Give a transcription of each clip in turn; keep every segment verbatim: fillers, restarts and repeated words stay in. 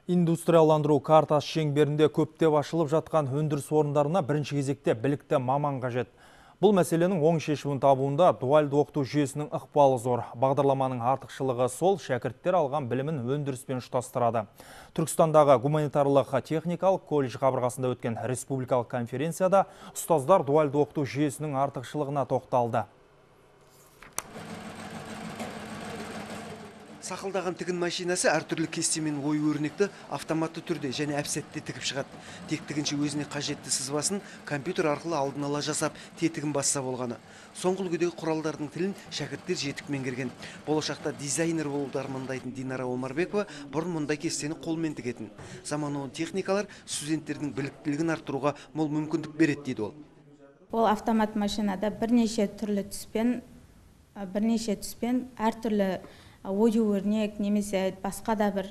Индустрияландыру картасы шеңберінде көптеп ашылып жатқан өндіріс орындарына бірінші кезекте білікті маман қажет. Бұл мәселенің оң шешімін табуында дуальды оқыту жүйесінің ықпалы зор. Бағдарламаның артықшылығы сол, шәкірттер алған білімін өндіріспен ұштастырады. Түркістандағы гуманитарлық техникалық колледж қабырғасында өткен республикалық конференцияда ұстаздар дуальды оқыту жүйесінің артықшылығына тоқталды. Сақылдаған тігін машинасы әртүрлі кестемен ой өрнекті автоматты түрде және әпсетте тігіп шығады. Тек тігінші өзіне қажетті сызбасын компьютер арқылы алдын ала жасап, тетігін басса болғаны. Соңғы үлгідегі құралдардың тілін шәкірттер жетік меңгерген. Болашақта дизайнер болуды армандайтын Динара Омарбекова бұрын мұндай кестені қолмен тігетін. Заманауи техникалар студенттердің біліктілігін арттыруға мол мүмкіндік береді дейді ол. Ол автомат машинада бірнеше түрлі түспен, бірнеше түспен әртүрлі ою өрнек немесе басқа да бір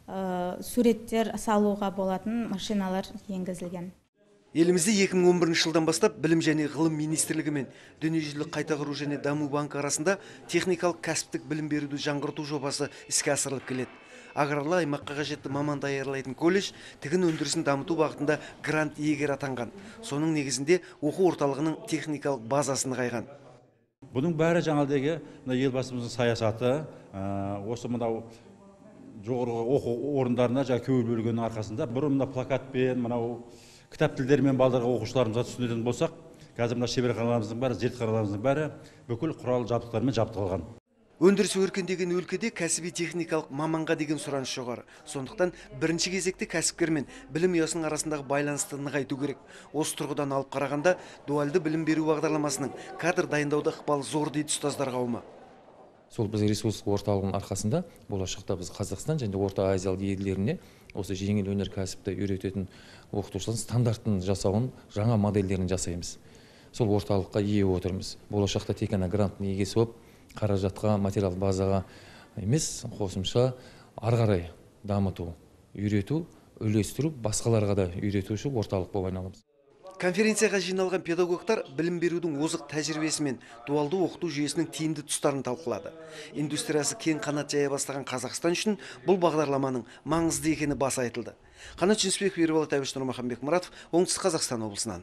ә, суреттер салуға болатын машиналар енгізілген. Елімізде екі мың он бірінші жылдан бастап білім және ғылым министрлігі мен дүниежүзілік қайта құру және даму банкі арасында техникалық кәсіптік білім беруді жаңғырту жобасы іске асырылып келеді. Аграрлы аймаққа қажетті маман даярлайтын колледж тігін өндірісін дамыту бағытында грант иегері атанған. Соның негізінде оқу орталығының техникалық базасын нығайған. Бұның бәрі жаңалдегі елбасымыздың саясаты, осы мынау жоғарғы оқу орындарына жаңа көңіл бөлгеннің арқасында. Бұрын мына плакатпен, мынау кітап тілдермен балдарға оқушыларымызға түсіндіретін болсақ, қазір мына шеберханаларымыздың бәрі, зертханаларымыздың бәрі бүкіл құрал жабдықтармен жабдықталған. Өндіріс өркендеген өлкеде кәсіби техникалық маманға деген сұраныс жоғары. Сондықтан бірінші кезекте кәсіпкер мен білім ұясының арасындағы байланысты нығайту керек. Осы тұрғыдан алып қарағанда дуальды білім беру бағдарламасының кадр дайындауда ықпалы зор дейді ұстаздар қауымы. Сол біз ресурстық орталығының арқасында болашақта біз Қазақстан және Орта Азиялық елдеріне осы жеңіл өнеркәсіпті үйрететін оқытушылардың стандартын жасауын, жаңа модельдерін жасаймыз. Сол орталыққа ие отырмыз. Болашақта тек қана гранттың иегесі болып, қаражатқа, материал базаға емес, қосымша ары қарай дамыту, үйрету, үлестіру, басқаларға да үйретуші орталық болып айналамыз. Конференцияға жиналған педагогтар білім берудің озық тәжірибесі мен дуалды оқыту жүйесінің тиімді тұстарын талқылады. Индустриясы кең қанат жая бастаған Қазақстан үшін бұл бағдарламаның маңызды екені баса айтылды. Қанат Жүнісбеков, Ерболат Әбіш, Нұрмахан Бекмұратов, Оңтүстік Қазақстан облысынан.